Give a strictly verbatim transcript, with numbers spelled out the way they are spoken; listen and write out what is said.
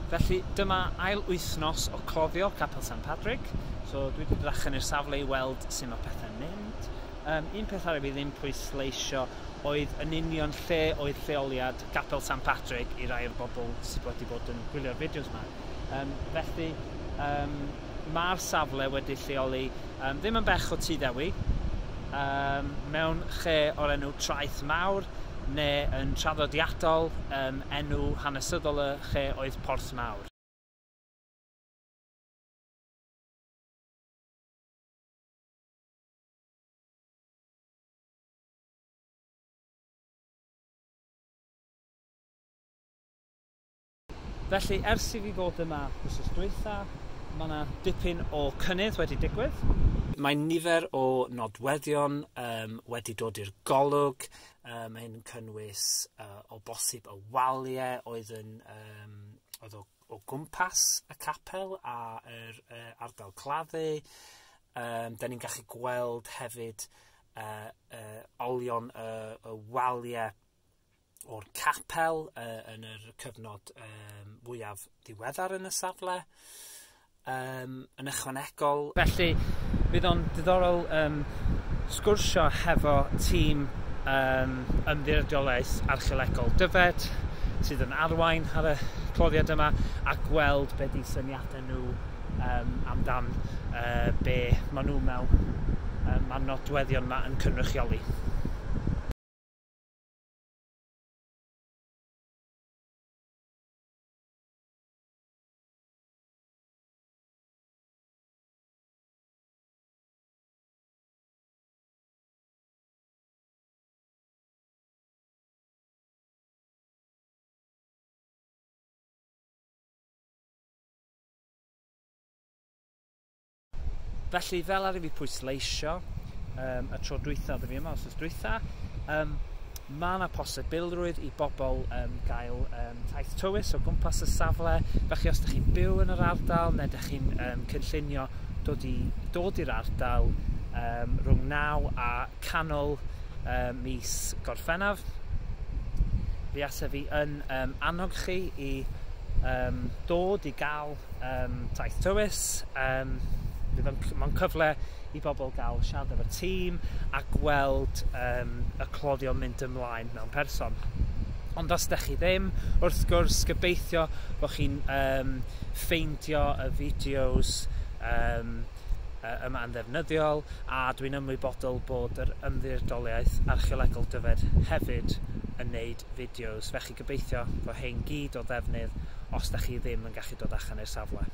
Felly dyma ail wythnos o cloddio Capel San Padrig. So dwi wedi dod allan i'r safle i weld sut mae pethau'n mynd. Um, un peth arall fi ddim pwysleisio oedd yn union lle oedd lleoliad Capel San Padrig i rai o'r bobl sydd wedi bod yn gwylio'r fideos yma. Um, felly um, mae'r safle wedi lleoli um, ddim yn bell o Tŷ Ddewi, um, mewn lle o'r enw Traeth Mawr, neu yn traddodiadol um, enw hanesyddol y lle oedd Porth Mawr. Felly, ers i fi fod yma wythnos dwytha, mae yna dipyn o cynnydd wedi digwydd. Mae nifer o nodweddion um, wedi dod i'r golwg. Um, mae hyn yn cynnwys uh, o bosib y waliau oedd, yn, um, oedd o, o gwmpas y capel a yr uh, ardal claddu. Um, da ni'n gallu gweld hefyd uh, uh, olion y, y waliau o'r capel uh, yn yr cyfnod um, fwyaf diweddar yn y safle. Um, yn ychwanegol. Felly, fydd o'n diddorol um, sgwrsio hefo tîm um, Ymddiriedolaeth Archeolegol Dyfed sydd yn arwain ar y cloddiad yma a gweld be di syniadau nhw um, amdan uh, be maen nhw mewn um, mae'r nodweddion yma yn cynrychioli. Felly, fel ar i fi pwysleisio um, y tro dwytha oedd fi yma, wythnos dwytha, um, mae yna posibilrwydd i bobl um, gael um, taith tywys o gwmpas y safle. Felly, os ydych chi'n byw yn yr ardal neu ydych chi'n um, cynllunio dod i, dod i'r ardal um, rhwng naw a canol um, mis Gorffennaf, fi asa fi yn um, annog chi i um, dod i gael um, taith tywys. Um, Mae'n cyfle i bobl gael siarad efo'r tîm a gweld um, y cloddio mynd ymlaen mewn person. Ond os ydych chi ddim, wrth gwrs, gobeithio bod chi'n um, ffeindio y fideos um, yma yn ddefnyddiol, a dwi'n ymwybodol bod yr Ymddiriedolaeth Archeolegol Dyfed hefyd yn neud fideos. Felly gobeithio bod hein gyd o ddefnydd os ydych chi ddim yn gallu dod allan i'r safle.